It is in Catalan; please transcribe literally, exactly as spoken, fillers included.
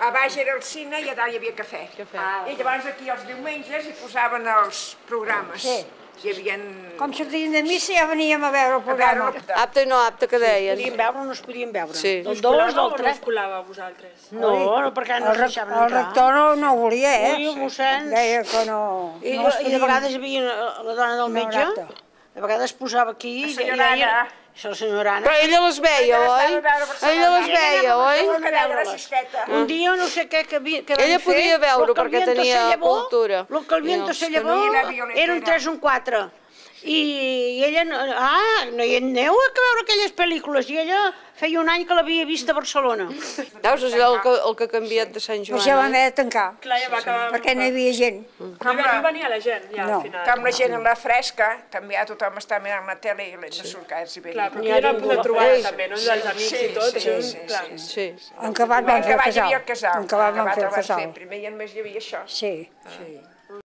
A baix era el cine i a dalt hi havia cafè. I llavors aquí els diumenges hi posaven els programes. Sí. Hi havia... Com sortien de missa ja veníem a veure el programa. Apte i no apte, que deien. Podíem veure o no es podien veure. Sí. Del dos, del No tres. us colava a vosaltres? No, perquè no El, ens rec deixaven el entrar. rector no, no volia, eh? Ui, mossèn. Deia que no... I, no es I de podien- vegades hi havia la dona del metge, acte. de vegades posava aquí... La i senyora deia- Anna. Això, la senyora Anna. Però ella les veia, oi? Ella les veia, oi? Que deia la cisteta. Un dia no sé què que, havia, que Ella van fer, podia veure lo que perquè el viento tenia se llevó, cultura. Lo que el viento I se els llevó tenia la violetera. era un tres o un quatre. I ella, no, ah, no hi aneu a veure aquelles pel·lícules, i ella feia un any que l'havia vist a Barcelona. Veus, és el que, el que ha canviat de Sant Però Joan, ja vam oi? haver de tancar, Clar, ja va acabar... perquè no hi havia gent. No hi venia la gent, ja, No. al final. Com la gent en la fresca, també ja tothom està mirant la tele i l'hem de surcar-s'hi bé. Clar, però aquí era el punt de trobada, també, no? Dels amics Sí, i tot, sí, això, sí, clar. sí, Sí. En Cabat vam En fer el Cabat hi havia casal. el casal. En Cabat vam En fer el van casal. Primer i en més hi havia això. Sí. Sí.